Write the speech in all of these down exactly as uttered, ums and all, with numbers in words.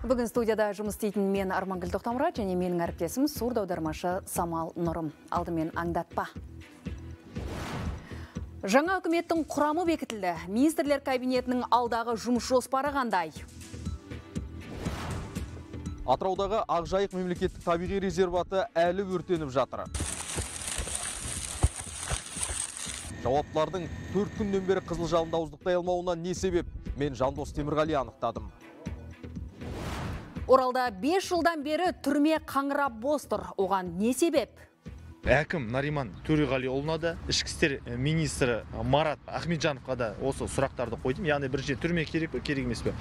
Бүгін студияда жұмыс істейтін мен Армангүл Тоқтамұрат және менің әріптесім сурд аудармашы Самал Нұрым. Алдымен аңдатпа. Жаңа үкіметтің құрамы бекітілді. Министрлер кабинетінің алдағы жұмыс жоспары қандай? Атыраудағы Ақжайық мемлекеттік табиғи резерваты әлі өртеніп жатыр. Жауаптылардың төрт күннен бері қызыл жалында ауыздықтай алмауына не себеп? Мен Жандос Темірғали анықтадым. Оралда бес жылдан бері түрме қаңырап бос тұр. Оған не себеп? Әкім Нариман Төреғалиұлына да, ішкі істер министрі Марат Ахметжановқа да осы сұрақтарды қойдым. Яғни бірінші түрме керек пе, керек емес пе?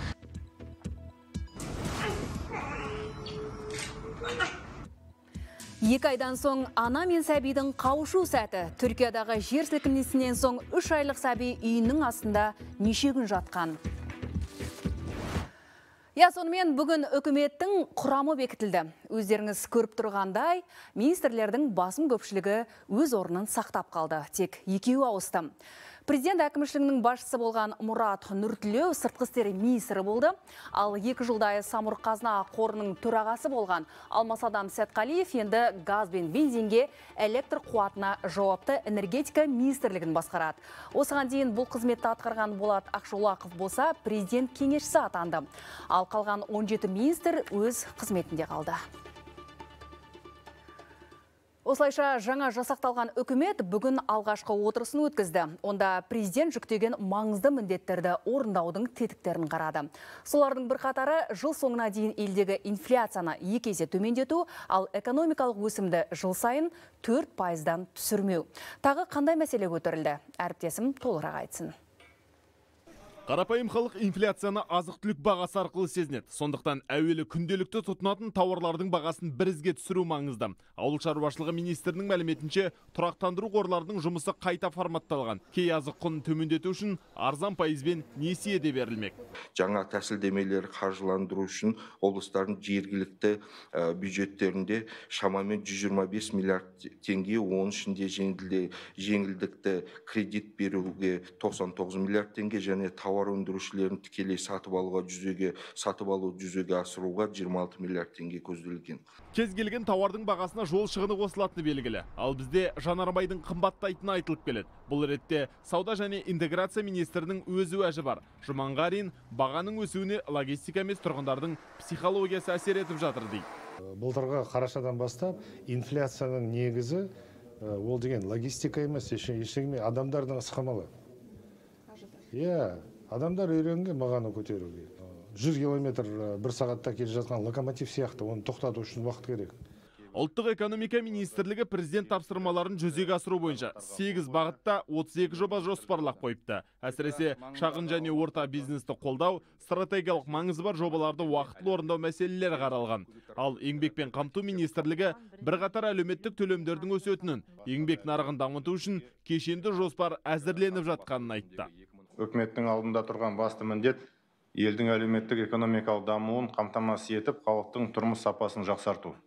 Екі айдан соң ана мен сәбидің қауышу сәті. Түркиядағы жер сілкінісінен соң үш айлық сәби үйінің астында неше күн жатқан. Я, сонымен бүгін үкіметтің құрамы бекітілді. Өздеріңіз көріп тұрғандай, министрлердің басым көпшілігі өз орнын сақтап қалды. Тек екеуі ауысты. Президент әкімшілігінің басшысы болған Мұрат Нұртілеу сыртқы істер министрі болды. Ал екі жылдай Самұрық қазына қорының төрағасы болған Алмасадам Сәтқалиев енді газ бен бензинге, электр қуатына жауапты энергетика министрлігін басқарады. Осыған дейін бұл қызметті атқарған Болат Ақшолақов болса президент кеңесшісі атанды. Ал қалған он жеті министр өз қызметінде қалды. Осылайша жаңа жасақталған үкімет бүгін алғашқы отырысын өткізді. Онда президент жүктеген маңызды міндеттерді орындаудың тетіктерін қарады. Солардың бірқатары жыл соңына дейін елдегі инфляцияны екі есе төмендету, ал экономикалық өсімді жыл сайын төрт пайыздан түсірмеу. Тағы қандай мәселе көтерілді? Әріптесім толығырақ айтсын. Қарапайым халық инфляцияны азық-түлік бағасы арқылы сезінеді. Сондықтан әуелі күнделікті тұтынатын тауарлардың бағасын бірізге түсіру маңызды. Ауыл шаруашылығы министрінің мәліметінше, тұрақтандыру қорларының жұмысы қайта форматталған. Кей азық құнын төмендету үшін арзан пайызбен несие де берілмек. Жаңа тәсілдемелер қаржыландыру үшін облыстардың жергілікті бюджеттерінде шамамен жүз жиырма бес миллиард теңге, оның ішінде жеңілдікті кредит беруге тоқсан тоғыз миллиард теңге және тауар өндірушілерін тікелей сатып алуға жүзеге сатып алу жүзеге асыруға жиырма алты миллиард теңге көзделген. Кез келген тауардың бағасына жол шығыны қосылатыны белгілі. Ал бізде жанармайдың қымбаттайтыны айтылып келеді. Бұл ретте сауда және интеграция министрінің өз уәжі бар. Жұманғарин бағаның өсуіне логистика емес тұрғындардың психологиясы әсер етіп жатыр дейді. Былтырғы қарашадан бастап инфляцияның негізі ол деген логистика емес, ештеңе адамдардың ысқамалы. Иә, адамдар үйренген бағаны көтеруге. жүз километр бір сағатта келе жатқан локомотив сияқты, оны тоқтату үшін уақыт керек. Ұлттық экономика министрлігі президент тапсырмаларын жүзеге асыру бойынша сегіз бағытта отыз екі жоба жоспарлап қойыпты. Әсіресе шағын және орта бизнесті қолдау, стратегиялық маңызы бар жобаларды уақытылы орындау мәселелері қаралған. Ал еңбекпен қамту министрлігі бірқатар әлеуметтік төлемдердің өсетінін, еңбек нарығын дамыту үшін кешенді жоспар әзірленіп жатқанын айтты. Үкіметтің алдында тұрған басты міндет елдің әлеуметтік экономикалық дамуын қамтамасыз етіп, халықтың тұрмыс сапасын жақсарту.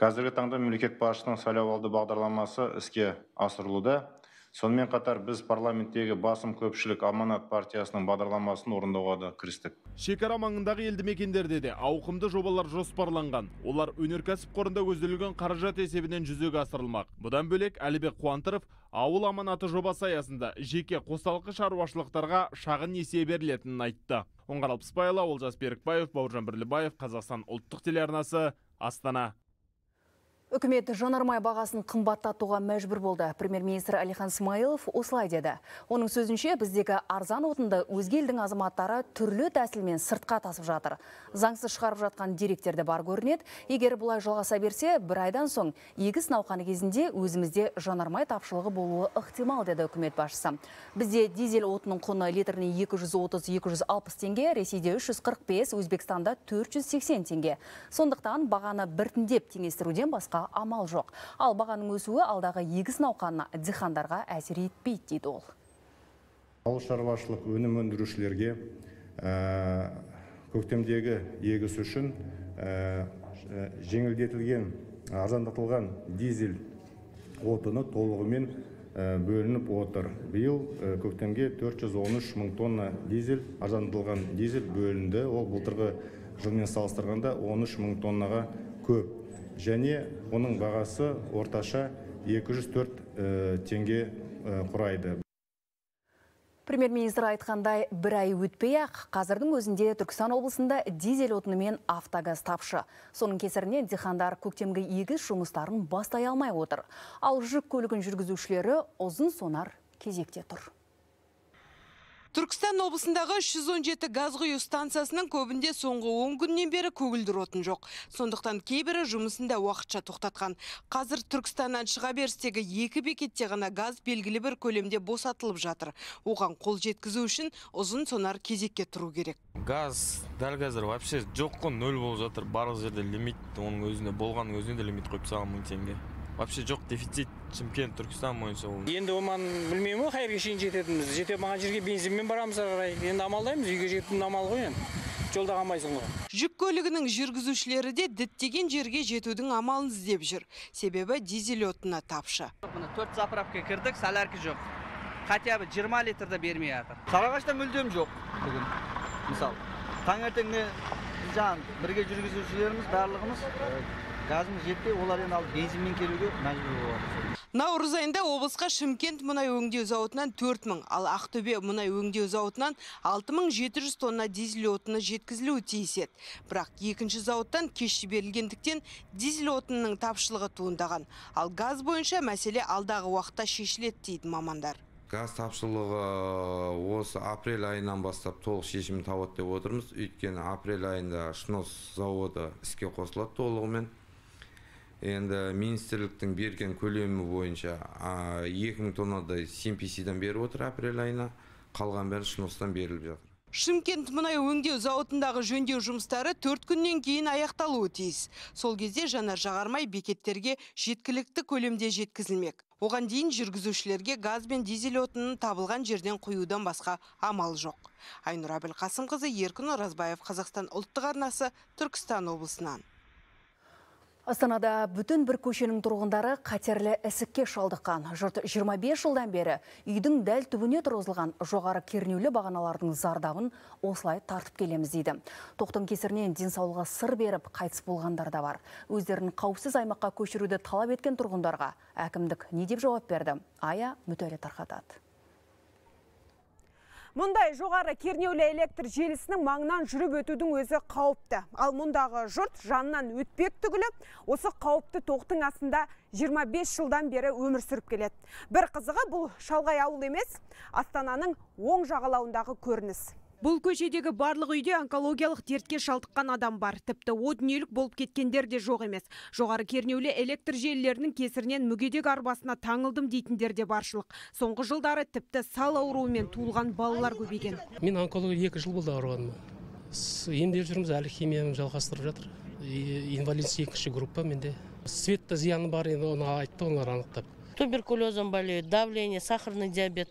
Қазіргі таңда мемлекет басшысының сайлауалды бағдарламасы іске асырылуда. Сонымен қатар біз парламенттегі басым көпшілік Аманат партиясының бағдарламасын орындауға да кірістік. Шекара маңындағы елді мекендерде де ауқымды жобалар жоспарланған. Олар өнеркәсіп қорында көзделген қаражат есебінен жүзеге асырылмақ. Бұдан бөлек Әлібек Қуантыров ауыл аманаты жобасы аясында жеке қосалқы шаруашылықтарға шағын несие берілетінін айтты. Оңғар Алпысбайұлы, Олжас Берікбаев, Бауыржан Бірлібаев, Қазақстан ұлттық телеарнасы, Астана. Үкімет жанармай бағасын қымбаттатуға мәжбүр болды. Премьер-министр Әлихан Смайылов осылай деді. Оның сөзінше біздегі арзан отынды өзге елдің азаматтары түрлі тәсілмен сыртқа тасып жатыр. Заңсыз шығарып жатқан деректер де бар көрінеді. Егер бұлай жалғаса берсе, бір айдан соң егіс науқаны кезінде өзімізде жанармай тапшылығы болуы ықтимал, деді үкімет басшысы. Бізде дизель отынның құны литріне екі жүз отыз - екі жүз алпыс теңге, Ресейде үш жүз қырық бес, Өзбекстанда төрт жүз сексен теңге. Сондықтан бағаны біртіндеп теңестіруден басқа амал жоқ. Ал бағаның өсуі алдағы егіс науқанына диқандарға әсер етпейді, дейді ол. Ауыл шаруашылық өнім өндірушілерге көктемдегі егіс үшін жеңілдетілген, арзандатылған дизель отыны толығымен бөлініп отыр. Биыл көктемге төрт жүз он үш мың тонна дизель, арзандатылған дизель бөлінді. Ол былтырғы жылмен салыстырғанда он үш мың тоннаға көп. Және оның бағасы орташа екі жүз төрт теңге құрайды. Премьер-министр айтқандай, бір ай өтпей-ақ қазірдің өзінде Түркістан облысында дизель отыны мен автогаз тапшы. Соның кесірінен диқандар көктемгі егіс жұмыстарын бастай алмай отыр. Ал жүк көлігін жүргізушілері ұзын сонар кезекте тұр. Түркістан облысындағы үш жүз он жеті газ құю станциясының көбінде соңғы он күннен бері көгілдір отын жоқ. Сондықтан кейбірі жұмысында уақытша тоқтатқан. Қазір Түркістаннан шыға берістегі екі бекетте ғана газ белгілі бір көлемде босатылып жатыр. Оған қол жеткізу үшін ұзын сонар кезекке тұру керек. Газ дәл қазір вообще жоқ қой, нөл болып жатыр. Барлық жерде лимит, оның өзіне болған өзіне де лимит қойып тастаған мың теңге. Вообще жоқ, дефицит Шымкент, Түркістан бойынша ол. Енді оман білмеймін, қайырға шейін жететініміз. Жете маған жерге бензинмен барамыз қарай. Енді амалдаймыз, үйге жетудің амал ғой енді. Жолда қалмайсың ғой. Жүк көлігінің жүргізушілері де діттеген жерге жетудің амалын іздеп жүр. Себебі дизель отыны тапшы. төрт заправка кірдік, солярка жоқ. Хотя бы жиырма литрді бермей жатыр. Сарыағашта мүлдем жоқ бүгін. Мысалы, таңертеңде жаң бірге жүргізушілеріміз барлығымыз газымыз жетпей, олар енді алып бензинмен келуге мәжбүр болады. Наурыз айында облысқа Шымкент мұнай өңдеу зауытынан төрт мың, ал Ақтөбе мұнай өңдеу зауытынан алты мың жеті жүз тонна дизель отыны жеткізілуі тиіс еді. Бірақ екінші зауыттан кеш жіберілгендіктен дизель отынының тапшылығы туындаған. Ал газ бойынша мәселе алдағы уақытта шешіледі дейді мамандар. Газ тапшылығы осы апрель айынан бастап толық шешімін табады деп отырмыз. Өйткені апрель айында Шнос заводы іске қосылады толығымен. Енді министрліктің берген көлемі бойынша екі мың тоннадай Симписидан беріп отыр апрель айына, қалған бәрі Шностан беріліп жатыр. Шымкент мұнай өңдеу зауытындағы жөндеу жұмыстары төрт күннен кейін аяқталуы тиіс. Сол кезде жанар жағармай бекеттерге жеткілікті көлемде жеткізілмек. Оған дейін жүргізушілерге газ бен дизель отынын табылған жерден құюдан басқа амал жоқ. Айнұр Әбілқасымқызы, Еркін Оразбаев, Қазақстан ұлттық арнасы, Түркістан облысынан. Астанада бүтін бір көшенің тұрғындары қатерлі ісікке шалдыққан. Жұрт жиырма бес жылдан бері үйдің дәл түбіне тұрғызылған жоғары кернеулі бағаналардың зардабын осылай тартып келеміз дейді. Тоқтың кесірінен денсаулығы сыр беріп қайтыс болғандар да бар. Өздерін қауіпсіз аймаққа көшіруді талап еткен тұрғындарға әкімдік не деп жауап берді? Ая Мүтәлі тарқатады. Мұндай жоғары кернеулі электр желісінің маңынан жүріп өтудің өзі қауіпті. Ал мұндағы жұрт жанынан өтпек түгілі осы қауіпті тоқтың астында жиырма бес жылдан бері өмір сүріп келеді. Бір қызығы бұл шалғай ауыл емес, Астананың оң жағалауындағы көрініс. Бұл көшедегі барлық үйде онкологиялық дертке шалдыққан адам бар. Тіпті о дүниелік болып кеткендер де жоқ емес. Жоғары кернеулі электр желілерінің кесірінен мүгедек арбасына таңылдым дейтіндер де баршылық. Соңғы жылдары тіпті сал ауруымен туылған балалар көбейген. Мен онкология екі жыл болды ауырғаныма. Емдеп жүрміз, әлі химияны жалғастырып жатыр. Инвалидность екінші группа менде. Светті зияны бар, енді оны айтты, олар анықтап. Туберкулезом болеют, давление, сахарный диабет.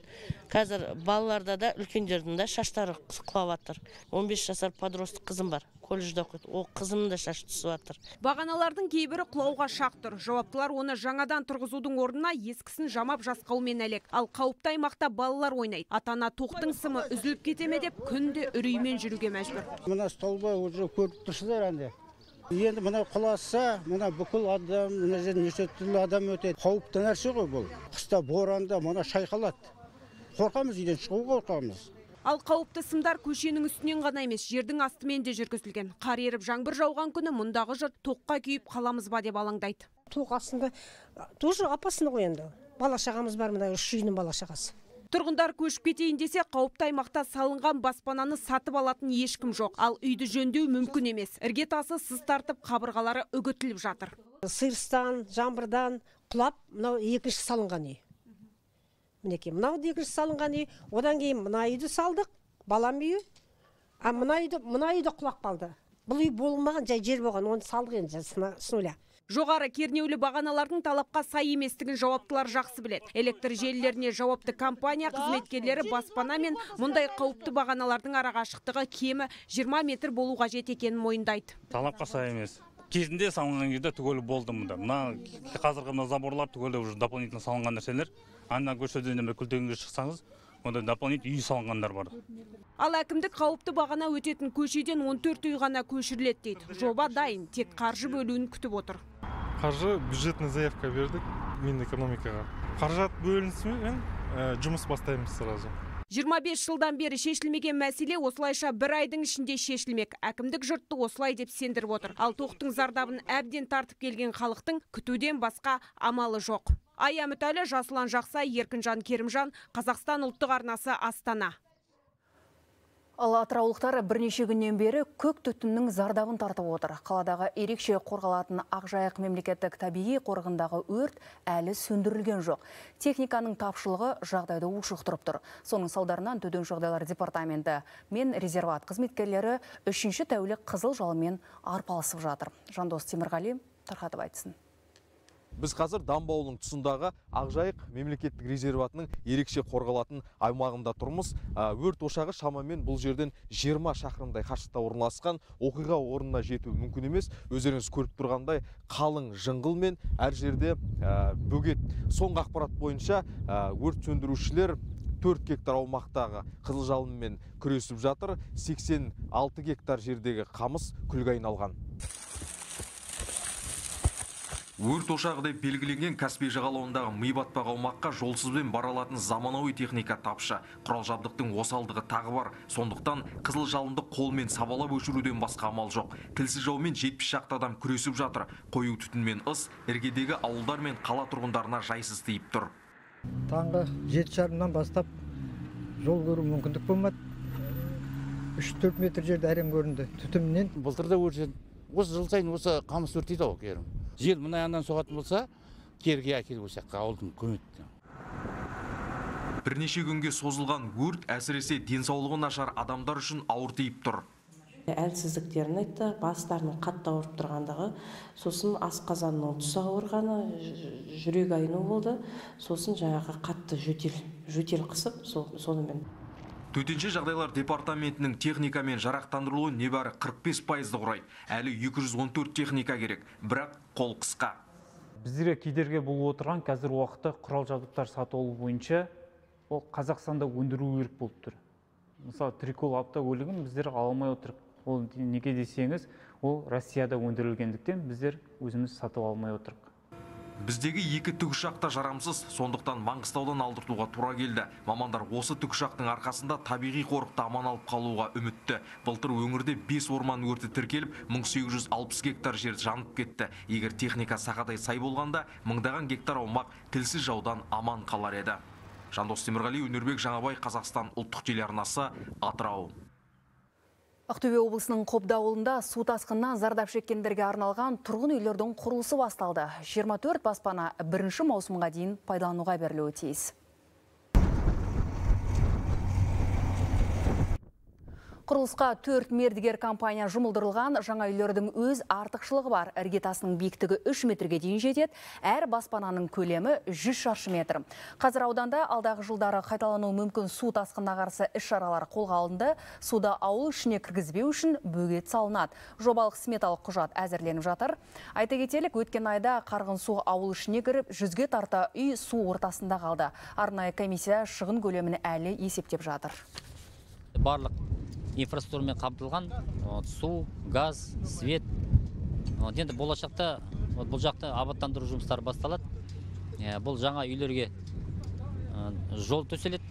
Қазір балаларда да, үлкендердің да шаштары құлап жатыр. он бес жасар подростық қызым бар. Колледжда оқиды. Ол қызымның да шашы түсіп жатыр. Бағаналардың кейбірі құлауға шақ тұр. Жауаптылар оны жаңадан тұрғызудың орнына ескісін жамап жасқаумен әлек. Ал қауіпті аймақта балалар ойнайды. Ата-ана тоқтың сымы үзіліп кетеме деп күнде үреймен жүруге мәжбүр. Мына столба уже көріп тұрсыздар әнде. Енді мына құласа, мына бүкіл адам, мына жерде неше түрлі адам өтеді. Қауіпті нәрсе ғой бұл. Қыста боранда мына шайқалады. Қорқамыз, үйден шығуға қорқамыз. Ал қауіпті сымдар көшенің үстінен ғана емес, жердің астымен де жүргізілген. Қар еріп жаңбыр жауған күні мұндағы жұрт тоққа күйіп қаламыз ба деп алаңдайды. Тоқ астында тоже опасно ғой енді. Бала шағамыз бар, мына үш үйдің бала шағасы. Тұрғындар көшіп кетейін десе, қауіпті аймақта салынған баспананы сатып алатын ешкім жоқ. Ал үйді жөндеу мүмкін емес. Іргетасы сыз тартып, қабырғалары үгітіліп жатыр. Сырыстан, жаңбырдан құлап, мынау екінші салынған үй. Мінекей, мынау екінші салынған үй. Одан кейін мына үйді салдық, балам үйі. А мына үйді, мына үйді құлап қалды. Бұл үй болмаған, жай жер болған, оны салдық енді с нуля. Жоғары кернеулі бағаналардың талапқа сай еместігін жауаптылар жақсы біледі. Электр желілеріне жауапты компания қызметкерлері баспана мен мұндай қауіпті бағаналардың арақашықтығы кемі жиырма метр болу қажет екенін мойындайды. Талапқа сай емес. Кезінде салынған кезде түгелі болды мұнда. Мына қазіргі мына заборлар түгелі уже дополнительно салынған нәрселер. Ана көшеден күлтегенге шықсаңыз, онда дополнительный үй салынғандар бар. Ал әкімдік қауіпті бағана өтетін көшеден он төрт үй ғана көшіріледі дейді. Жоба дайын, тек қаржы бөлуін күтіп отыр. Қаржы бюджетный заявка бердік Минэкономикаға. Қаражат бөлінісімен жұмыс бастаймыз сразу. жиырма бес жылдан бері шешілмеген мәселе осылайша бір айдың ішінде шешілмек. Әкімдік жұртты осылай деп сендіріп отыр. Ал тоқтың зардабын әбден тартып келген халықтың күтуден басқа амалы жоқ. Ая Мүтәлі, Жасұлан Жақсай, Еркінжан Керімжан, Қазақстан ұлттық арнасы, Астана. Ал атыраулықтар бірнеше күннен бері көк түтіннің зардабын тартып отыр. Қаладағы ерекше қорғалатын Ақжайық мемлекеттік табиғи қорығындағы өрт әлі сөндірілген жоқ. Техниканың тапшылығы жағдайды ушықтырып тұр. Соның салдарынан Төтенше жағдайлар департаменті мен резерват қызметкерлері үшінші тәулік қызыл жалынмен арпалысып жатыр. Жандос Темірғали тарқатып айтсын. Біз қазір Дамба ауылының тұсындағы Ақжайық мемлекеттік резерватының ерекше қорғалатын аймағында тұрмыз. Өрт ошағы шамамен бұл жерден жиырма шақырымдай қашықта орналасқан. Оқиға орнына жету мүмкін емес. Өздеріңіз көріп тұрғандай қалың жыңғыл мен әр жерде бөгет. Соңғы ақпарат бойынша өрт сөндірушілер төрт гектар аумақтағы қызыл жалынмен күресіп жатыр. сексен алты гектар жердегі қамыс күлге айналған. Өрт ошағы деп белгіленген Каспий жағалауындағы ми батпақ аумаққа жолсызбен баралатын заманауи техника тапшы. Құрал жабдықтың осалдығы тағы бар. Сондықтан қызыл жалынды қолмен сабалап өшіруден басқа амал жоқ. Тілсіз жаумен жетпіс шақты адам күресіп жатыр. Қою түтінмен ыс, іргедегі ауылдар мен қала тұрғындарына жайсыз тиіп тұр. Таңғы жеті жарымнан бастап жол көру мүмкіндік болмады. үш төрт метр жерде әрең көрінді түтіннен. Былтырда өрт осы жыл сайын осы қамыс өртейді ау керім. Жел мына yandan соғатын болса, керге әкеліп өсекқа ауылдың көмекті. Бірнеше күнге созылған өрт әсіресе денсаулығы нашар адамдар үшін ауыр тиіп тұр. Әлсіздіктерін айтты, бастарының қатты ауырып тұрғандығы, сосын асқазанның тұсы ауырғаны, жүрек айну болды, сосын жаңағы қатты жөтел, жөтел қысып, сонымен. Төтенше жағдайлар департаментінің техникамен жарақтандырылуы небәрі қырық бес пайызды құрайды. Әлі екі жүз он төрт техника керек, бірақ қол қысқа. Біздерге кедергі болып отырған қазір уақытта құрал жабдықтар сатып алу бойынша ол Қазақстанда өндіру керек болып тұр. Мысалы, трикол автокөлігін біздер ала алмай отырық. Ол неге десеңіз, ол Россияда өндірілгендіктен біздер өзіміз сатып алмай отырық. Біздегі екі тікұшақта жарамсыз, сондықтан Маңғыстаудан алдыртуға тура келді. Мамандар осы тікұшақтың арқасында табиғи қорықта аман алып қалуға үмітті. Былтыр өңірде бес орман өрті тіркеліп, мың сегіз жүз алпыс гектар жер жанып кетті. Егер техника сақадай сай болғанда, мыңдаған гектар аумақ тілсіз жаудан аман қалар еді. Жандос Темірғали, Өнербек Жаңабай, Қазақстан ұлттық телеарнасы, Атырау. Ақтөбе облысының Қобда ауылында су тасқынынан зардап шеккендерге арналған тұрғын үйлердің құрылысы басталды. жиырма төрт баспана бірінші маусымға дейін пайдалануға берілуі тиіс. Құрылысқа төрт мердігер компания жұмылдырылған. Жаңа үйлердің өз артықшылығы бар. Іргетасының биіктігі үш метрге дейін жетеді. Әр баспананың көлемі жүз шаршы метр. Қазір ауданда алдағы жылдары қайталануы мүмкін су тасқынына қарсы іс-шаралар қолға алынды. Суда ауыл ішіне кіргізбеу үшін бөгет салынады. Жобалық сметалық құжат әзірленіп жатыр. Айта кетелік, өткен айда қарғын су ауыл ішіне кіріп, жүзге тарта үй су ортасында қалды. Арнайы комиссия шығын көлемін әлі есептеп жатыр. Барлық инфраструктурамен қамтылған су, газ, свет. Енді болашақта бұл жақта абаттандыру жұмыстары басталады. Бұл жаңа үйлерге жол төселеді.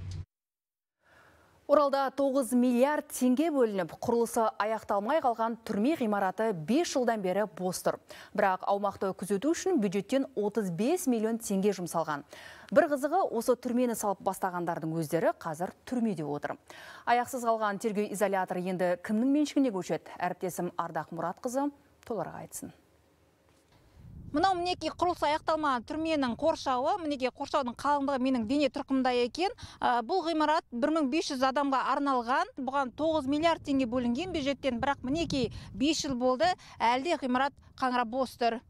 Оралда тоғыз миллиард теңге бөлініп, құрылысы аяқталмай қалған түрме ғимараты бес жылдан бері бос тұр. Бірақ аумақты күзету үшін бюджеттен отыз бес миллион теңге жұмсалған. Бір қызығы, осы түрмені салып бастағандардың өздері қазір түрмеде отыр. Аяқсыз қалған тергеу изоляторы енді кімнің меншігіне көшеді? Әріптесім Ардақ Мұратқызы толығырақ айтсын. Мынау мінеки құрылысы аяқталмаған түрменің қоршауы, мінеки қоршаудың қалыңдығы менің дене тұрқымда екен. Бұл ғимарат бір мың бес жүз адамға арналған. Бұған тоғыз миллиард теңге бөлінген бюджеттен, бірақ мінеки бес жыл болды, әлде ғимарат қаңырап бос тұр.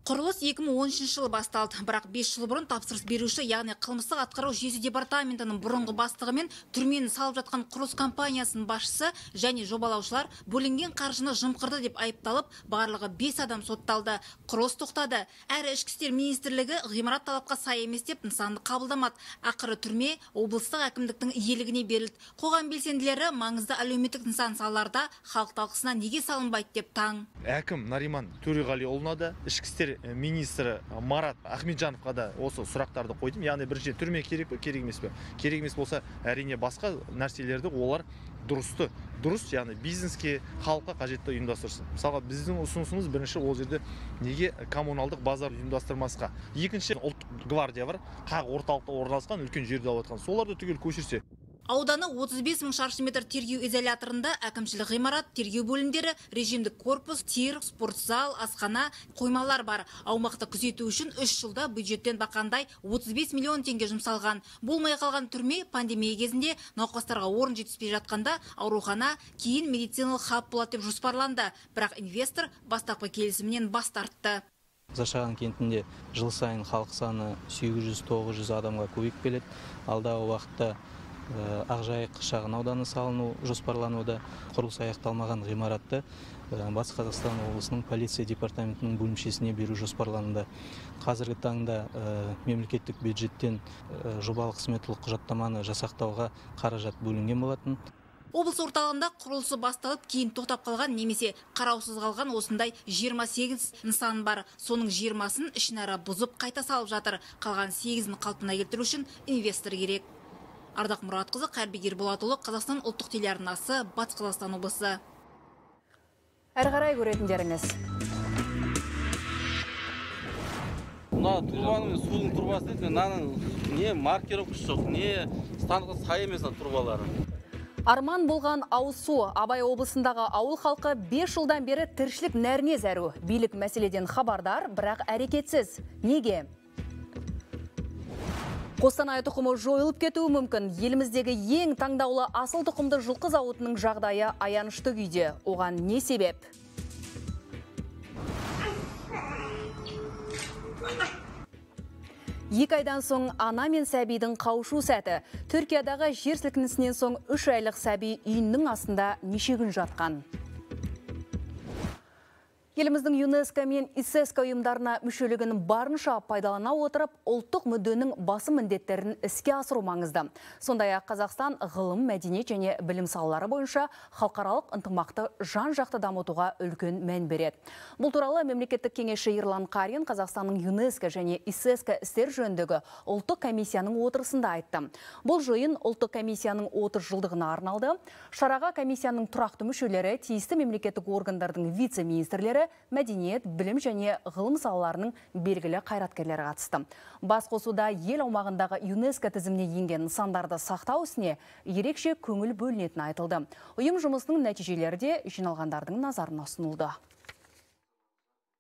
Құрылыс екі мың он үшінші жылы басталды, бірақ бес жыл бұрын тапсырыс беруші, яғни қылмыстық атқару жүйесі департаментінің бұрынғы бастығы мен түрмені салып жатқан құрылыс компаниясының басшысы және жобалаушылар бөлінген қаржыны жымқырды деп айыпталып, барлығы бес адам сотталды. Құрылыс тоқтады. Әрі ішкі істер министрлігі ғимарат талапқа сай емес деп нысанды қабылдамады. Ақыры түрме облыстық әкімдіктің иелігіне берілді. Қоғам белсенділері маңызды әлеуметтік нысан салаларда халық талқысына неге салынбайды деп таң. Әкім Нариман Төреғалиұлына да, ішкі істер министрі Марат Ахметжановқа да осы сұрақтарды қойдым. Яғни бірінші түрме керек пе, керек емес пе? Керек емес болса, әрине басқа нәрселерді олар дұрысты, дұрыс, яғни бизнеске, халыққа қажетті ұйымдастырсын. Мысалға, біздің ұсынысымыз бірінші ол жерде неге коммуналдық базар ұйымдастырмасқа. Екінші, ұлттық гвардия бар, қақ орталықта орналасқан, үлкен жерде алып жатқан. Соларды түгел көшірсе. Ауданы отыз бес мың шаршы метр тергеу изоляторында әкімшілік ғимарат, тергеу бөлімдері, режимдік корпус, тир, спортзал, асхана, қоймалар бар. Аумақты күзету үшін үш жылда бюджеттен бақандай отыз бес миллион теңге жұмсалған. Болмай қалған түрме пандемия кезінде науқастарға орын жетіспей жатқанда аурухана, кейін медициналық хаб болады деп жоспарланды. Бірақ инвестор бастапқы келісімнен бас тартты. Зашаған кентінде жыл сайын халық саны сегіз жүз тоғыз жүз адамға көбейіп келеді. Алдағы уақытта Ақжайық шағын ауданы салыну жоспарлануда. Құрылыс аяқталмаған ғимаратты Батыс Қазақстан облысының полиция департаментінің бөлімшесіне беру жоспарлануда. Қазіргі таңда мемлекеттік бюджеттен жобалық сметалық құжаттаманы жасақтауға қаражат бөлінген болатын. Облыс орталығында құрылысы басталып, кейін тоқтап қалған немесе қараусыз қалған осындай жиырма сегіз нысан бар. Соның жиырмасын ішінара бұзып қайта салып жатыр. Қалған сегізін қалпына келтіру үшін инвестор керек. Ардақ Мұратқызы, Қайырбек Ерболатұлы, Қазақстан ұлттық телеарнасы, Батыс Қазақстан облысы. Әрі қарай көретіндеріңіз. Мына турбаның судың турбасы дейді, мынаның не маркировкасы жоқ, не станға сай емес турбалары. Арман болған ауыз су. Абай облысындағы ауыл халқы бес жылдан бері тіршілік нәріне зәру. Билік мәселеден хабардар, бірақ әрекетсіз. Неге? Қостанай тұқымы жойылып кетуі мүмкін. Еліміздегі ең таңдаулы асыл тұқымды жылқы зауытының жағдайы аянышты күйде. Оған не себеп? Екі айдан соң ана мен сәбидің қауышу сәті. Түркиядағы жер сілкінісінен соң үш айлық сәби үйінің астында неше күн жатқан. Еліміздің ЮНЕСКО мен ИСЕСКО ұйымдарына мүшелігін барынша пайдалана отырып, ұлттық мүдденің басым міндеттерін іске асыру маңызды. Сондай-ақ Қазақстан ғылым, мәдениет және білім салалары бойынша халықаралық ынтымақты жан-жақты дамытуға үлкен мән береді. Бұл туралы мемлекеттік кеңесші Ерлан Қарин Қазақстанның ЮНЕСКО және ИСЕСКО істер жөніндегі ұлттық комиссияның отырысында айтты. Бұл жиын ұлттық комиссияның отыз жылдығына арналды. Шараға комиссияның тұрақты мүшелері, тиісті мемлекеттік органдардың вице-министрлері, мәдениет, білім және ғылым салаларының белгілі қайраткерлері қатысты. Бас қосуда ел аумағындағы ЮНЕСКО тізіміне енген нысандарды сақтау ісіне ерекше көңіл бөлінетіні айтылды. Ұйым жұмысының нәтижелері де жиналғандардың назарына ұсынылды.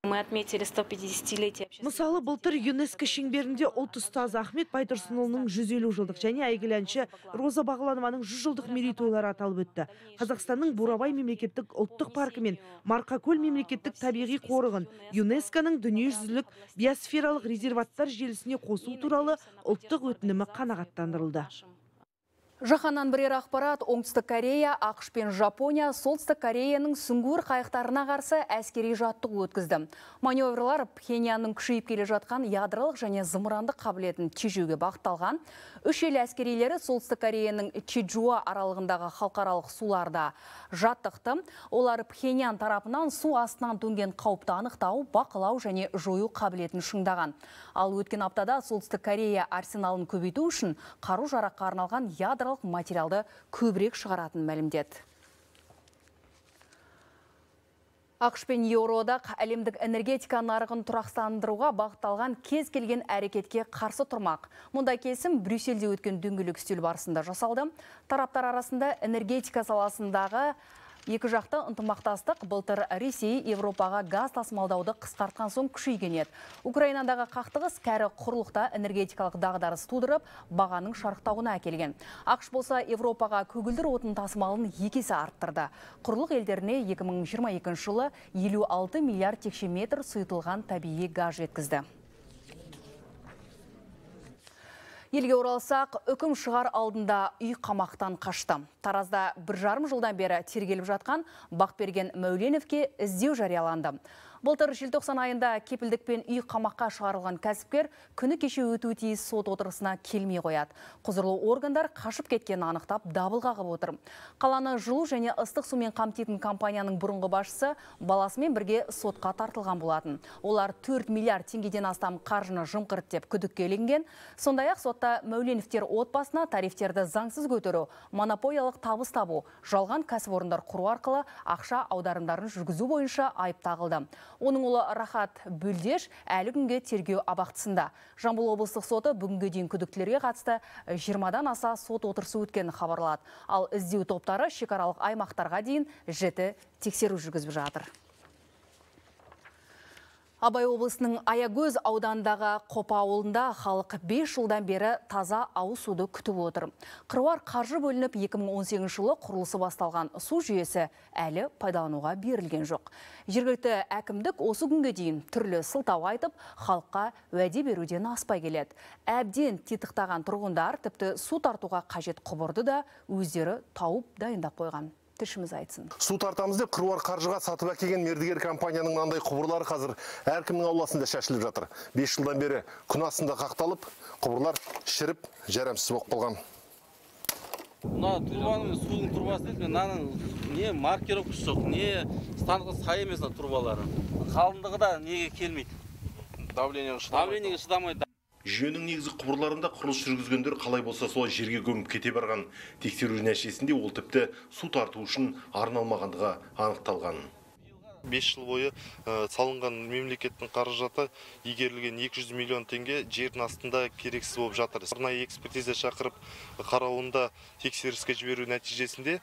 Мы отметили сто пятидесятилетие. Мысалы, былтыр ЮНЕСКО шеңберінде ұлт ұстазы Ахмет Байтұрсынұлының жүз елу жылдық және әйгілі әнші Роза Бағланованың жүз жылдық мерейтойлары аталып өтті. Қазақстанның Бурабай мемлекеттік ұлттық паркі мен Марқакөл мемлекеттік табиғи қорығын ЮНЕСКОның дүниежүзілік биосфералық резерваттар желісіне қосу туралы ұлттық өтінімі қанағаттандырылды. Жаһаннан бірер ақпарат. Оңтүстік Корея, ақш пен Жапония Солтүстік Кореяның сүңгуір қайықтарына қарсы әскери жаттығу өткізді. Маневрлар Пхеньянның күшейіп келе жатқан ядролық және зымырандық қабілетін тежеуге бағытталған. Үш ел әскерилері Солтүстік Кореяның Чеджуа аралығындағы халықаралық суларда жаттықты. Олар Пхеньян тарапынан су астынан төнген қауіпті анықтау, бақылау және жою қабілетін шыңдаған. Ал өткен аптада Солтүстік Корея арсеналын көбейту үшін қару-жараққа арналған ядролық материалды көбірек шығаратын мәлімдеді. ақш пен Еуроодақ әлемдік энергетика нарығын тұрақсандыруға бағытталған кез келген әрекетке қарсы тұрмақ. Мұндай келісім Брюссельде өткен дөңгелек үстел барысында жасалды. Тараптар арасында энергетика саласындағы Екі жақты ынтымақтастық былтыр Ресей Европаға газ тасымалдауды қысқартқан соң күшейген еді. Украинадағы қақтығыс кәрі құрлықта энергетикалық дағдарыс тудырып, бағаның шарықтауына әкелген. ақш болса Европаға көгілдір отын тасымалын екі есе арттырды. Құрлық елдеріне екі мың жиырма екінші жылы елу алты миллиард текше метр сұйытылған табиғи газ жеткізді. Елге оралсақ, үкім шығар алдында үй қамақтан қашты. Таразда бір жарым жылдан бері тергеліп жатқан Бақберген Мәуленовке іздеу жарияланды. Былтыр желтоқсан айында кепілдікпен үй қамаққа шығарылған кәсіпкер күні кеше өтуі тиіс сот отырысына келмей қояды. Құзырлы органдар қашып кеткенін анықтап дабыл қағып отыр. Қаланы жылу және ыстық сумен қамтитын компанияның бұрынғы басшысы баласымен бірге сотқа тартылған болатын. Олар төрт миллиард теңгеден астам қаржыны жымқырды деп күдікке ілінген. Сондай-ақ сотта Мәуленовтер отбасына тарифтерді заңсыз көтеру, монополиялық табыс табу, жалған кәсіпорындар құру арқылы ақша аударымдарын жүргізу бойынша айып тағылды. Оның ұлы Рахат Бүлдеш әлі күнге тергеу абақтысында. Жамбыл облыстық соты бүгінге дейін күдіктілерге қатысты жиырмадан аса сот отырысы өткенін хабарлады. Ал іздеу топтары шекаралық аймақтарға дейін жіті тексеру жүргізіп жатыр. Абай облысының Аягөз аудандағы Қопа ауылында халық бес жылдан бері таза ауыз суды күтіп отыр. Қыруар қаржы бөлініп екі мың он сегізінші жылы құрылысы басталған су жүйесі әлі пайдалануға берілген жоқ. Жергілікті әкімдік осы күнге дейін түрлі сылтау айтып, халыққа уәде беруден аспай келеді. Әбден титықтаған тұрғындар тіпті су тартуға қажет құбырды да өздері тауып дайындап қойған. Тілшіміз айтсын. Су тартамыз деп қыруар қаржыға сатып әкелген мердігер компанияның мынандай құбырлары қазір әркімнің ауласында шашылып жатыр. бес жылдан бері күн астында қақталып, құбырлар шіріп, жарамсыз болып қалған. Мына турбаның судың турбасы дейді, мынаның не маркировкасы жоқ, не станығы сай емес турбалары. Қалыңдығы да неге келмейді. Давлениеге шыдамайды. Жүйенің негізгі құбырларында құрылыс жүргізгендер қалай болса солай жерге көміп кете барған. Тексеру нәтижесінде ол тіпті су тарту үшін арналмағандығы анықталған. бес жыл бойы салынған мемлекеттің қаражаты игерілген екі жүз миллион теңге жердің астында керексіз болып жатыр. Арнайы экспертиза шақырып қарауында тексеріске жіберу нәтижесінде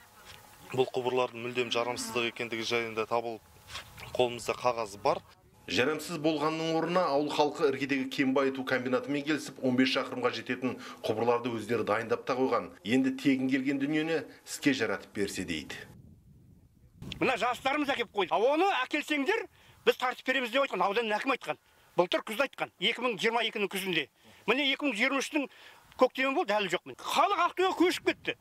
бұл құбырлардың мүлдем жарамсыздық екендігі жайында табылып қолымызда қағазы бар. Жарамсыз болғанның орнына ауыл халқы іргедегі кен байыту комбинатымен келісіп он бес шақырымға жететін құбырларды өздері дайындап та қойған. Енді тегін келген дүниені іске жаратып берсе дейді. Мына жастарымыз әкеп қойды. Оны әкелсеңдер, біз тартып береміз деп айтқан, ауданның әкімі айтқан. Былтыр күзде айтқан, екі мың жиырма екінің күзінде. Міне екі мың жиырма үштің көктемі болды, әлі жоқ. Халық Ақтөбеге көшіп кетті.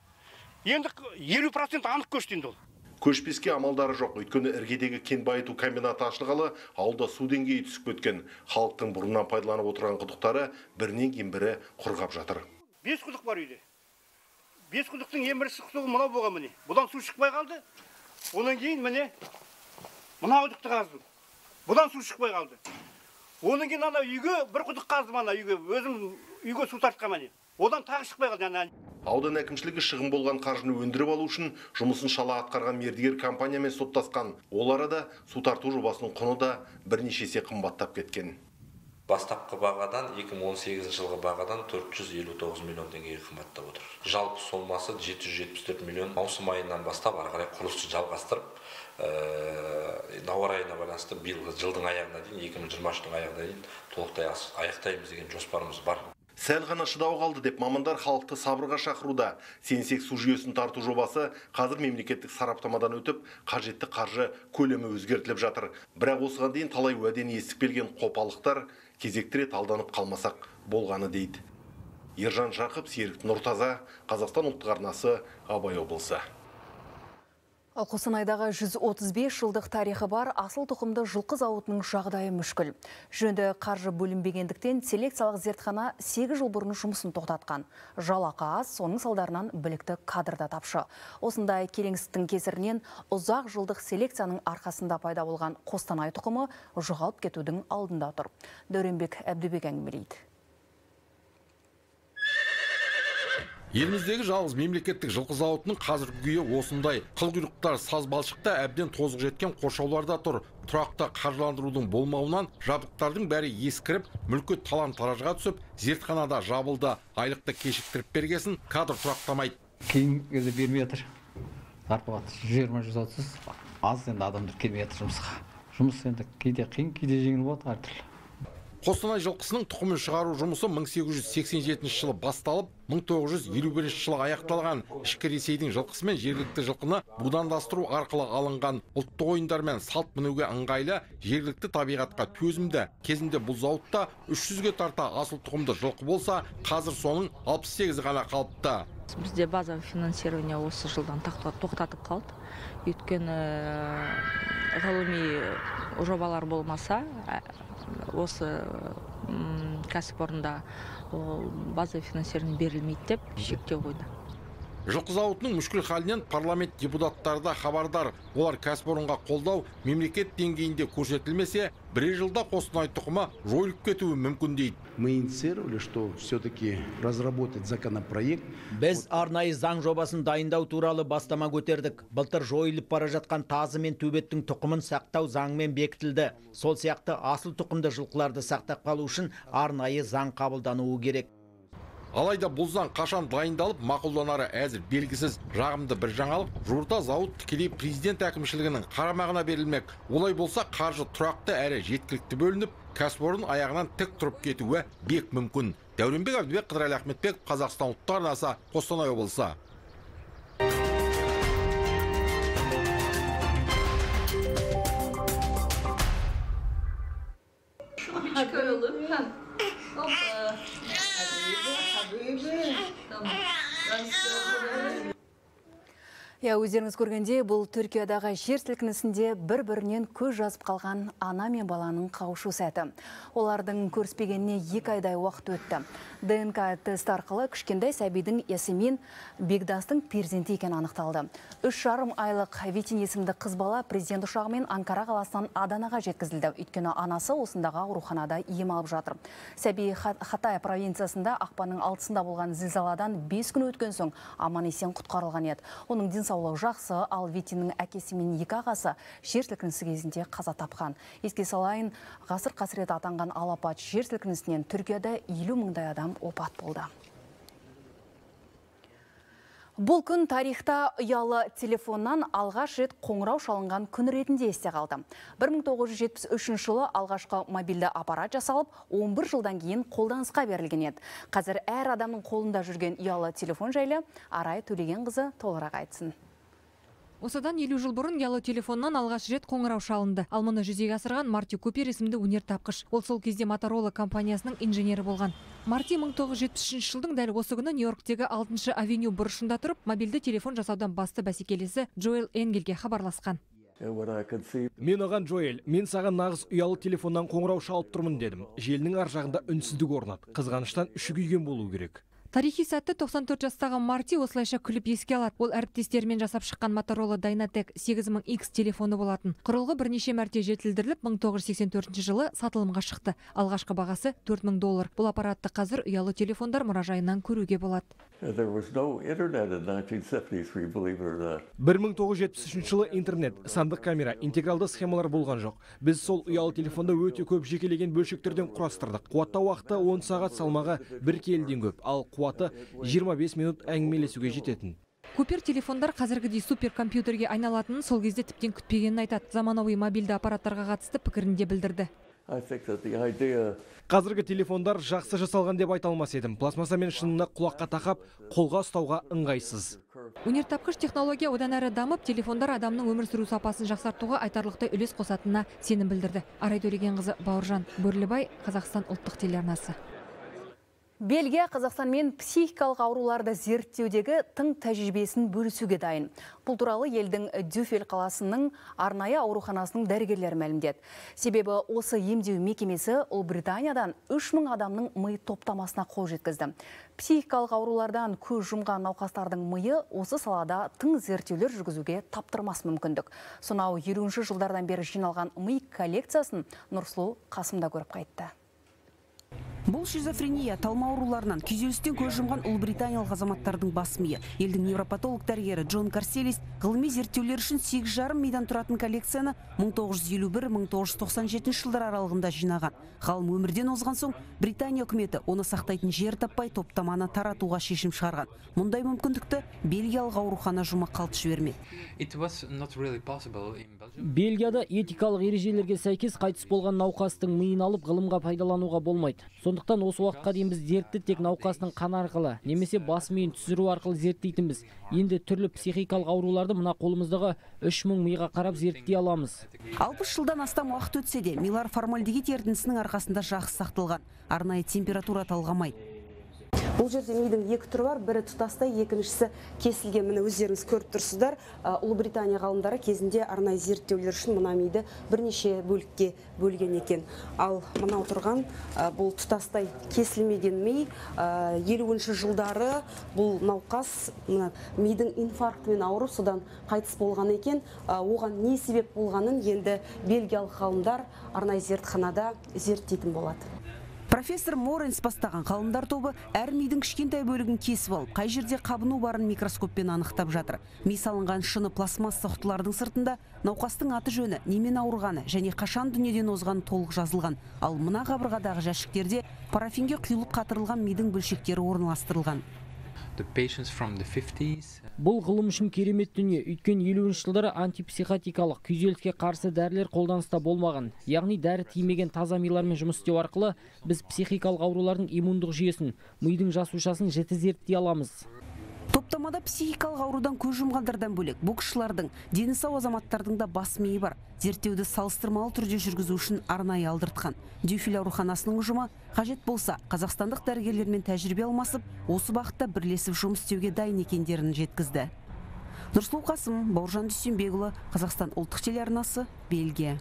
Енді елу процент анық көшті енді ол. Көшпеске амалдары жоқ, өйткені іргедегі кен байыту комбинаты ашылғалы ауылда су деңгейі түсіп кеткен. Халықтың бұрыннан пайдаланып отырған құдықтары бірінен кейін бірі құрғап жатыр. Бес құдық бар үйде. Бес құдықтың ең бірінші құдығы мынау болған міне. Бұдан су шықпай қалды. Онан кейін міне мына құдықты қаздым. Бұдан су шықпай қалды. Онан кейін ана үйге бір құдық қаздым, ана үйге өзім үйге су тартқан міне. Одан тағы шықпай қалды. Аудан әкімшілігі шығын болған қаржыны өндіріп алу үшін жұмысын шала атқарған мердігер компаниямен соттасқан. Ол арада су тарту жобасының құны да бірнеше есе қымбаттап кеткен. Бастапқы бағадан екі мың он сегізінші жылғы бағадан төрт жүз елу тоғыз миллион теңгеге қымбаттап отыр. Жалпы сомасы жеті жүз жетпіс төрт миллион. Маусым айынан бастап ары қарай құрылысты жалғастырып, науыр айына байланысты биылғы жылдың аяғына дейін, екі мың жиырма үштің аяғына дейін толықтай аяқтаймыз деген жоспарымыз бар. Сәл ғана шыдау қалды деп мамандар халықты сабырға шақыруда. Сенсек су жүйесін тарту жобасы қазір мемлекеттік сараптамадан өтіп, қажетті қаржы көлемі өзгертіліп жатыр. Бірақ осыған дейін талай уәдені естіп келген қопалықтар кезекті рет алданып қалмасақ болғаны дейді. Ержан Жақып, Серік Нұртаза, Қазақстан ұлттық арнасы, Абай облысы. Ал Қостанайдағы жүз отыз бес жылдық тарихы бар асыл тұқымды жылқы зауытының жағдайы мүшкіл. Жөнді қаржы бөлінбегендіктен селекциялық зертхана сегіз жыл бұрын жұмысын тоқтатқан. Жалақы аз, соның салдарынан білікті кадрда тапшы. Осындай келеңсіздіктің кесірінен ұзақ жылдық селекцияның арқасында пайда болған Қостанай тұқымы жоғалып кетудің алдында тұр. Дәуренбек Әбдібек әңгімелейді. Еліміздегі жалғыз мемлекеттік жылқы зауытының қазіргі күйі осындай. Қылқұйрықтар саз балшықта әбден тозығы жеткен қоршауларда тұр. Тұрақты қаржыландырудың болмауынан жабдықтардың бәрі ескіріп, мүлкі талан-таражға түсіп, зертханада жабылды. Айлықты кешіктіріп бергесін кадр тұрақтамайды. Кейін бермей жатыр. зарплата жиырма жүз отыз аз, енді адамдар келмей жатыр жұмысқа. Жұмыс енді кейде қиын, кейде жеңіл болады әртүрлі. Қостанай жылқысының тұқымын шығару жұмысы мың сегіз жүз сексен жетінші жылы басталып, мың тоғыз жүз елу бірінші жылы аяқталған. Ішкі Ресейдің жылқысы мен жергілікті жылқыны будандастыру арқылы алынған. Ұлттық ойындар мен салт мінуге ыңғайлы, жергілікті табиғатқа төзімді. Кезінде бұл зауытта үш жүзге тарта асыл тұқымды жылқы болса, қазір соның алпыс сегізі ғана қалыпты. Бізде базовый финансирование осы жылдан тоқтатып қалды. Өйткені ғылыми жобалар болмаса, осы кәсіпорында базовый финансирование берілмейді деп шектеу қойды. Жылқы зауытының мүшкіл халінен парламент депутаттары да хабардар. Олар кәсіпорынға қолдау мемлекет деңгейінде көрсетілмесе, бірер жылда Қостанай тұқымы жойылып кетуі мүмкін дейді. Мы инициировали, что все-таки разработать законопроект. Біз арнайы заң жобасын дайындау туралы бастама көтердік. Былтыр жойылып бара жатқан тазы мен төбеттің тұқымын сақтау заңмен бекітілді. Сол сияқты асыл тұқымды жылқыларды сақтап қалу үшін арнайы заң қабылдануы керек. Алайда бұл заң қашан дайындалып, мақұлданары әзір белгісіз. Жағымды бір жаңалық, жуырда зауыт тікелей президент әкімшілігінің қарамағына берілмек. Олай болса, қаржы тұрақты әрі жеткілікті бөлініп, кәсіпорын аяғынан тік тұрып кетуі бек мүмкін. Дәуренбек Әбдібек, Қыдырәлі Ахметбек, Қазақстан ұлттық арнасы, Қостанай облысы. Я өздеріңіз көргенде, бұл Түркиядағы жер сілкінісінде бір-бірінен көз жазып қалған ана мен баланың қауышу сәті. Олардың көріспегеніне екі айдай уақыт өтті. ДНК тест арқылы кішкентай сәбидің есімін Бекдастың перзенті екен анықталды. Үш жарым айлық Витин есімді қыз бала президент ұшағымен Анкара қаласынан Аданаға жеткізілді. Өйткені анасы осындағы ауруханада ем алып жатыр. Сәби Хатай провинциясында ақпанның алтысында болған зілзаладан бес күн өткен соң аман есен құтқарылған еді. Оның денсаулығы жақсы, ал Витиннің әкесі мен екі ағасы жер сілкінісі кезінде қаза тапқан. Еске салайын, ғасыр қасірет атанған алапат жер сілкінісінен Түркияда елу мыңдай адам опат болды. Бұл күн тарихта ұялы телефоннан алғаш рет қоңырау шалынған күн ретінде есте қалды. бір мың тоғыз жүз жетпіс үшінші жылы алғашқы мобильді аппарат жасалып, он бір жылдан кейін қолданысқа берілген еді. Қазір әр адамның қолында жүрген ұялы телефон жайлы Арай Төлегенқызы толығырақ айтсын. Осыдан елу жыл бұрын ұялы телефоннан алғаш рет қоңырау шалынды. Ал мұны жүзеге асырған Марти Купер есімді өнертапқыш. Ол сол кезде Motorola компаниясының инженері болған. Марти мың тоғыз жүз жетпіс үшінші жылдың дәл осы күні Нью-Йорктегі алтыншы авеню бұрышында тұрып, мобильді телефон жасаудан басты бәсекелесі Джоэл Энгельге хабарласқан. Мен оған Джоэл, мен саған нағыз ұялы телефоннан қоңырау шалып тұрмын дедім. Желінің ар жағында үнсіздік орнады. Қызғаныштан үші күйген болу керек. Тарихи сәтті тоқсан төрт жастағы Марти осылайша күліп еске алады. Ол әріптестерімен жасап шыққан Motorola Dynatec сегіз мың икс телефоны болатын. Құрылғы бірнеше мәрте жетілдіріліп, мың тоғыз жүз сексен төртінші жылы сатылымға шықты. Алғашқы бағасы төрт мың доллар. Бұл аппаратты қазір ұялы телефондар мұражайынан көруге болады. бір мың тоғыз жүз жетпіс үшінші жылы интернет, сандық камера, интегралды схемалар болған жоқ. Біз сол ұялы телефонда өте көп жекелеген бөлшектерден құрастырдық. Қуаттау уақыты он сағат, салмағы бір келіден көп, ал қуаты жиырма бес минут әңгімелесуге жететін. Купер телефондар қазіргідей суперкомпьютерге айналатынын сол кезде тіптен күтпегенін айтады. Заманауи мобильді аппараттарға қатысты пікірінде білдірді. Қазіргі телефондар жақсы жасалған деп айта алмас едім. Пластмасса мен шынына құлаққа тақап, қолға ұстауға ыңғайсыз. Өнертапқыш технология одан әрі дамып, телефондар адамның өмір сүру сапасын жақсартуға айтарлықтай үлес қосатынына сенім білдірді. Арай Төлегенқызы, Бауыржан Бөрлібай, Қазақстан ұлттық телеарнасы. Бельгия Қазақстанмен психикалық ауруларды зерттеудегі тың тәжірибесін бөлісуге дайын. Бұл туралы елдің Дюфель қаласының арнайы ауруханасының дәрігерлері мәлімдеді. Себебі осы емдеу мекемесі Ұлыбританиядан үш мың адамның ми топтамасына қол жеткізді. Психикалық аурулардан көз жұмған науқастардың миы осы салада тың зерттеулер жүргізуге таптырмас мүмкіндік. Сонау елуінші жылдардан бері жиналған ми коллекциясын Нұрсұлу Қасымда көріп қайтты. Бұл шизофрения, талма ауруларынан күйзелістен көз жұмған ұлыбританиялық азаматтардың бас миы. Елдің невропатолог дәрігері Джон Карселис ғылыми зерттеулер үшін сегіз жарым мидан тұратын коллекцияны мың тоғыз жүз елу бір — мың тоғыз жүз тоқсан жетінші жылдар аралығында жинаған. Ғалым өмірден озған соң Британия үкіметі оны сақтайтын жер таппай топтаманы таратуға шешім шығарған. Мұндай мүмкіндікті бельгиялық аурухана жұма қалт жібермеді. Бельгияда етикалық ережелерге сәйкес қайтыс болған науқастың миын алып ғылымға пайдалануға болмайды. Сондықтан осы уақытқа дейін біз дертті тек науқасының қаны арқылы немесе бас миын түсіру арқылы зерттейтінбіз. Енді түрлі психикалық ауруларды мына қолымыздағы үш мың миға қарап зерттей аламыз. алпыс жылдан астам уақыт өтсе де, милар формальдегид ерітіндісінің арқасында жақсы сақталған. Арнайы температура талғамайды. Бұл жерде мидың екі түрі бар, бірі тұтастай, екіншісі кесілген. Міне өздеріңіз көріп тұрсыздар. Ұлыбритания ғалымдары кезінде арнайы зерттеулер үшін мына миды бірнеше бөлікке бөлген екен. Ал мына отырған бұл тұтастай кесілмеген ми. елуінші жылдары бұл науқас мидың инфарктімен ауырып, содан қайтыс болған екен. Оған не себеп болғанын енді бельгиялық ғалымдар арнайы зертханада зерттейтін болады. Профессор Моренс бастаған ғалымдар тобы әр мидың кішкентай бөлігін кесіп алып, қай жерде қабыну барын микроскоппен анықтап жатыр. Ми салынған шыны пластмасса құтылардың сыртында науқастың аты жөні, немен ауырғаны және қашан дүниеден озғаны толық жазылған. Ал мына қабырғадағы жәшіктерде парафинге құйылып қатырылған мидың бөлшектері орналастырылған. Бұл ғылым үшін керемет дүние, өйткені елуінші жылдары антипсихотикалық күйзеліске қарсы дәрілер қолданыста болмаған. Яғни дәрі тимеген таза милармен жұмыс істеу арқылы біз психикалық аурулардың иммундық жүйесін, мидың жасушасын жіті зерттей аламыз. Топтамада психикалық аурудан көз жұмғандардан бөлек, боксшылардың, дені сау азаматтардың да бас миы бар. Зерттеуді салыстырмалы түрде жүргізу үшін арнайы алдыртқан. Дюфиль ауруханасының ұжымы қажет болса, қазақстандық дәрігерлермен тәжірибе алмасып, осы бағытта бірлесіп жұмыс істеуге дайын екендерін жеткізді. Нұрсұлу Қасым, Бауыржан Дүйсенбекұлы, Қазақстан ұлттық телеарнасы, Бельгия.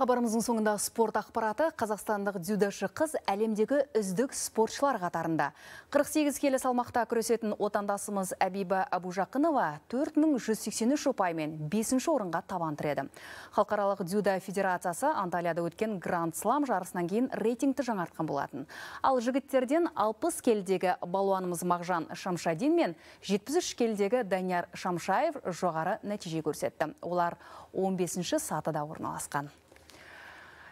Хабарымыздың соңында спорт ақпараты. Қазақстандық дзюдошы қыз әлемдегі үздік спортшылар қатарында. қырық сегіз келі салмақта күресетін отандасымыз Әбиба Абужақынова төрт мың жүз сексен үш ұпаймен бесінші орынға табан тіреді. Халықаралық дзюдо федерациясы Анталияда өткен Гранд Слам жарысынан кейін рейтингті жаңартқан болатын. Ал жігіттерден алпыс келідегі балуанымыз Мағжан Шамшадин мен жетпіс үш келідегі Данияр Шамшаев жоғары нәтиже көрсетті. Олар он бесінші сатыда орналасқан.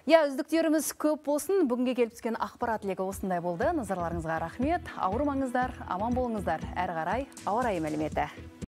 Я, үздіктеріміз көп болсын. Бүгінге келіп түскен ақпарат легі осындай болды. Назарларыңызға рахмет. Ауырмаңыздар, аман болыңыздар. Әрі қарай ауа райы мәліметі.